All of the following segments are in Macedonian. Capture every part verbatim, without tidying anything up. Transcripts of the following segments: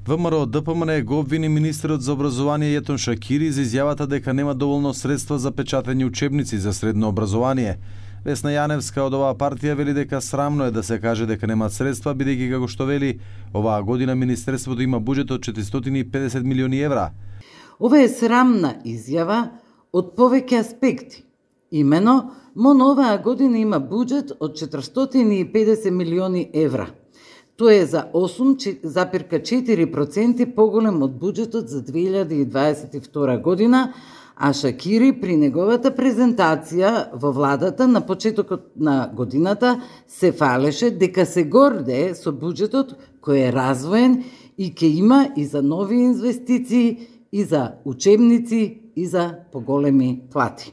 ВМРО Д П М Н го обвини министерот за образование Јетон Шакири за изјавата дека нема доволно средства за печатени учебници за средно образование. Весна Јаневска од оваа партија вели дека срамно е да се каже дека немаат средства, бидејќи како што вели, оваа година министерството има буџет од четиристотини и педесет милиони евра. Ова е срамна изјава од повеќе аспекти. Имено, МОН оваа година има буџет од четиристотини и педесет милиони евра. Тоа е за осум запирка четири проценти поголем од буџетот за две илјади и дваесет и втора година, а Шакири при неговата презентација во владата на почетокот на годината се фалеше дека се гордее со буџетот кој е развоен и ќе има и за нови инвестиции, и за учебници, и за поголеми плати.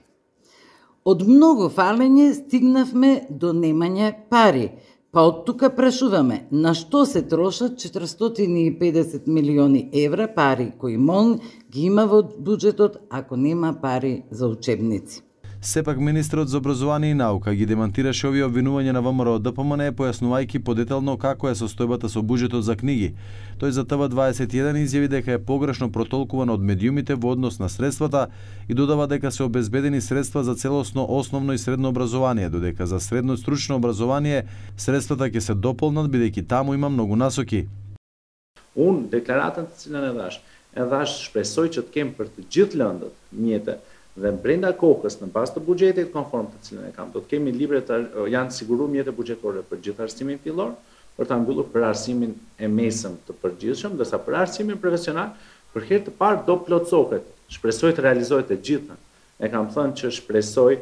Од многу фалење стигнавме до немање пари, па од тука прашуваме на што се трошат четиристотини и педесет милиони евра пари кои МОН ги има во буџетот ако нема пари за учебници. Сепак министерот за образование и наука ги демантираше овие обвинувања на ВМРО Д П М Н, појаснувајќи подетално како е состојбата со буџетот за книги. Тој за Т В дваесет и еден изјави дека е погрешно протолкувано од медиумите во однос на средствата и додава дека се обезбедени средства за целосно основно и средно образование, додека за средно стручно образование средствата ќе се дополнат бидејќи таму има многу насоки. Unë deklaratën të cilën e dhash, e dhash shpresoj që të kem për të gjithë lëndët mjete dhe brenda kokës në bazë të buxhetit konform të cilën e kam, do të kemi libre të janë siguruar mjete buxhetore për gjithë arsimin fillor, për ta mbyllur për arsimin e mesëm të përgjithshëm, ndërsa për arsimin profesional për herë të parë do plotësohet. Shpresoj të realizohet e gjitha. E kam thënë që shpresoj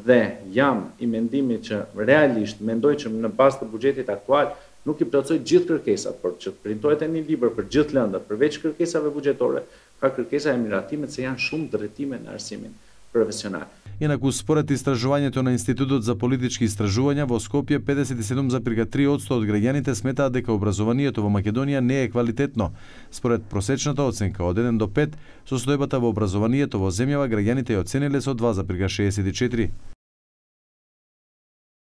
dhe jam i mendimit që realisht mendoj që në bazë të buxhetit aktual nuk i plotësoj gjithë kërkesat, por që të printohet një libër për gjithë lëndët, përveç kërkesave buxhetore, ka kërkesa e miratimet se janë shumë drejtime në arsimin profesional. Инаку според истражувањето на Институтот за политички истражувања во Скопје педесет и седум запирка три одсто од граѓаните сметаат дека образованието во Македонија не е квалитетно. Според просечната оценка од еден до пет, состојбата во образованието во земјава граѓаните ја оцениле со два запирка шеесет и четири.